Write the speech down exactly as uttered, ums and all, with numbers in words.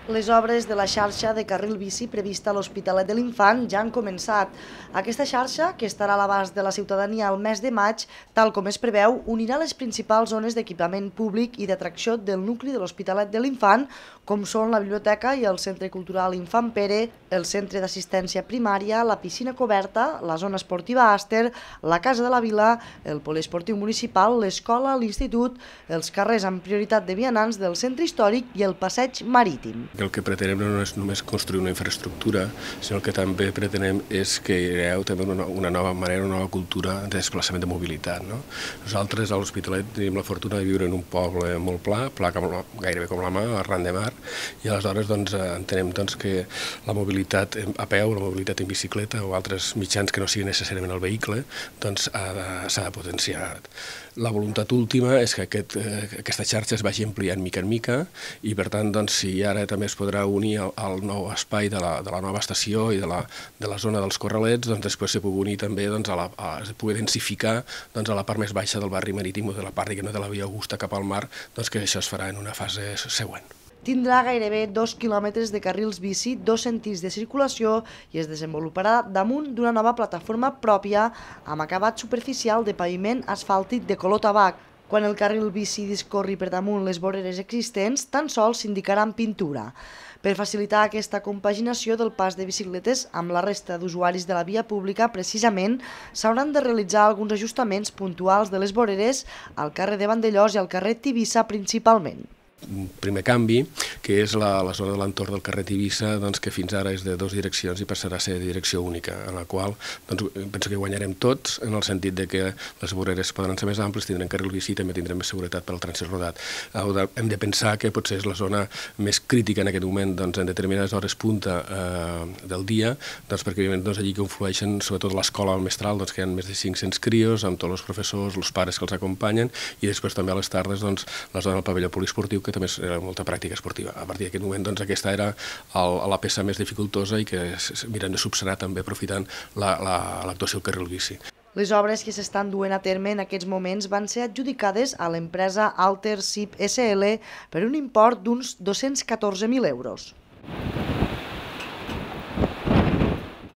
Les obres de la xarxa de carril bici prevista a l'Hospitalet de l'Infant ja han començat. Aquesta xarxa, que estarà a l'abast de la ciutadania al mes de maig, tal com es preveu, unirà les principals zones d'equipament públic i d'atracció del nucli de l'Hospitalet de l'Infant, com són la biblioteca i el Centre Cultural Infant Pere, el Centre d'Assistència Primària, la piscina coberta, la zona esportiva Àster, la Casa de la Vila, el poliesportiu municipal, l'escola, l'institut, els carrers amb prioritat de vianants del centre històric i el passeig marítim. El que pretenem no és només construir una infraestructura, sinó que també pretenem és que hi hagueu també una, una nova manera, una nova cultura de desplaçament de mobilitat. No? Nosaltres a l'Hospitalet tenim la fortuna de viure en un poble molt pla, pla com la, gairebé com la mà, arran de mar, i aleshores doncs, entenem doncs, que la mobilitat a peu, la mobilitat en bicicleta o altres mitjans que no siguin necessàriament el vehicle doncs, s'ha de potenciar. La voluntat última és que aquest, aquesta xarxa es vagi ampliant mica en mica i per tant doncs, si ara també es podrà unir al, al nou espai de la, de la nova estació i de la, de la zona dels Corralets, doncs després se pugui unir també doncs, a la, a, es pugui densificar doncs, a la part més baixa del barri marítim o de la part no, de la Via Augusta cap al mar, doncs, que això es farà en una fase següent. Tindrà gairebé dos quilòmetres de carrils bici, dos sentits de circulació i es desenvoluparà damunt d'una nova plataforma pròpia amb acabat superficial de paviment asfàltic de color tabac. Quan el carril bici discorri per damunt les voreres existents, tan sols s'indicarà en pintura. Per facilitar aquesta compaginació del pas de bicicletes amb la resta d'usuaris de la via pública, precisament, s'hauran de realitzar alguns ajustaments puntuals de les voreres al carrer de Vandellós i al carrer Tivissa principalment. Un primer canvi, que és la, la zona de l'entorn del carrer Tivissa, doncs, que fins ara és de dues direccions i passarà a ser de direcció única, en la qual doncs, penso que guanyarem tots, en el sentit de que les voreres podran ser més amples, tindrem carril bici i també tindrem més seguretat per al trànsit rodat. Hem de pensar que potser és la zona més crítica en aquest moment doncs, en determinades hores punta eh, del dia, doncs, perquè doncs, allí conflueixen sobretot l'escola mestral, doncs, que hi ha més de cinc-cents crios, amb tots els professors, els pares que els acompanyen, i després també a les tardes doncs, la zona del pavelló poliesportiu, que també era molta pràctica esportiva. A partir d'aquest moment, doncs, aquesta era el, la peça més dificultosa i que miren de subsanar també aprofitant l'actuació la, la, al carril bici. Les obres que s'estan duent a terme en aquests moments van ser adjudicades a l'empresa Alter S I P S L per un import d'uns dos-cents catorze mil euros.